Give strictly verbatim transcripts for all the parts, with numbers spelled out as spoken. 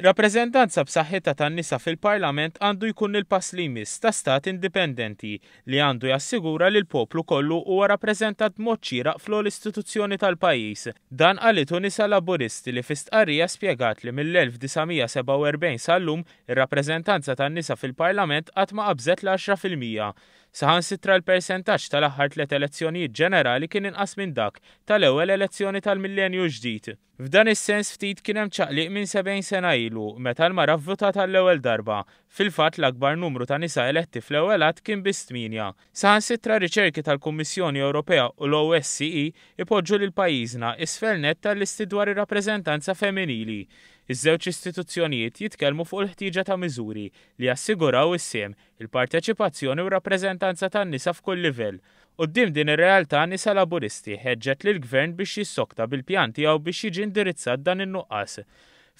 Rappreżentanza b'saħħitha tan-nisa fil-Parlament għandu jkun il-pass li jmiss ta' stat indipendenti li għandu jassigura li l-poplu kollu huwa rappreżentat b'mod xieraq fl-ogħla istituzzjoni tal-pajjiż. Dan qalitu Nisa Laburisti li fi stqarrija spjegat li mill-elf disa' mija sebgħa u erbgħin sal-lum ir-rappreżentanza tan-nisa fil-Parlament qatt ma qabżet l-għaxra fil-mija. Saħansitra l-persentaġġ tal-aħħar tliet elezzjonijiet ġenerali kien inqas minn dak tal-ewwel elezzjoni tal-millenju ġdid. F'dan is-sens ftit kien hemm ċaqliq minn sebgħin sena ilu meta l-mara vvutat għall-ewwel darba. Fil-fatt l-akbar numru ta' nisa eletti fl-ewwel att kien biss tmienja. Saħansitra riċerki tal-Kummissjoni Ewropea u l-O S C E ipoġġu lil pajjiżna isfel net tal-listi dwar ir-rappreżentanza femminili. Iż-żewġ istituzzjonijiet jitkellmu fuq il-ħtieġa ta' miżuri li jassiguraw is-sehem, il-parteċipazzjoni u r-rappreżentanza tan-nisa f'kull livell. Quddiem din ir-realtà Nisa Laburisti ħeġġet lill-Gvern biex jissokta bil-pjan tiegħu biex jiġi indirizzat dan in-nuqqas.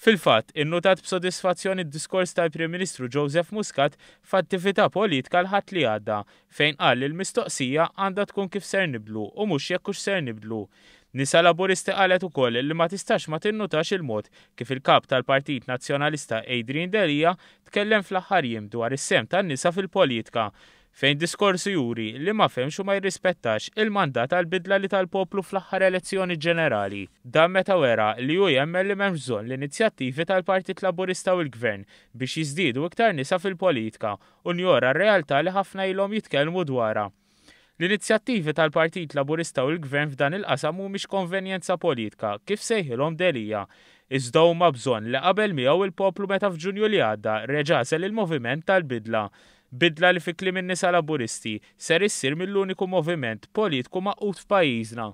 Fil-fatt, innutat b'sodisfazzjoni d-diskors tal-Prim Ministru Joseph Muscat f'attività politika l-Ħadd li għadda, fejn qal li l-mistoqsija għandha tkun kif ser nibdlu u mhux jekk hux ser nibdlu. Nisa Laburisti qalet ukoll li ma tistax ma tinnutax il-mod kif il-kap tal-Partit Nazzjonalista Adrian Delia tkellem fl-aħħar jiem dwar is-sehem tan-nisa fil-politika, fejn diskorsu juri li ma fehmx u ma jirrispettax il-mandat għall-bidla li tal-poplu fl-aħħar elezzjoni ġenerali. Dan meta wera li hu jemmen li m'hemmx bżonn l-inizjattivi tal-Partit Laburista u l-Gvern biex jiżdiedu iktar nisa fil-politika u njora r-realtà li ħafna ilhom jitkellmu dwarha. L-inizjattivi tal-Partit Laburista u l-Gvern f'dan il-qasam mhumiex konvenjenza politika kif sejħilhom Delia. Iżda huma bżonn li qabel miegħu il-poplu meta f'Ġunju li għadda reġa' għażel il-moviment tal-bidla. Bidla li fi kliem in-nisa Laburisti ser issir mill-uniku moviment politiku magħqud f'pajjiżna.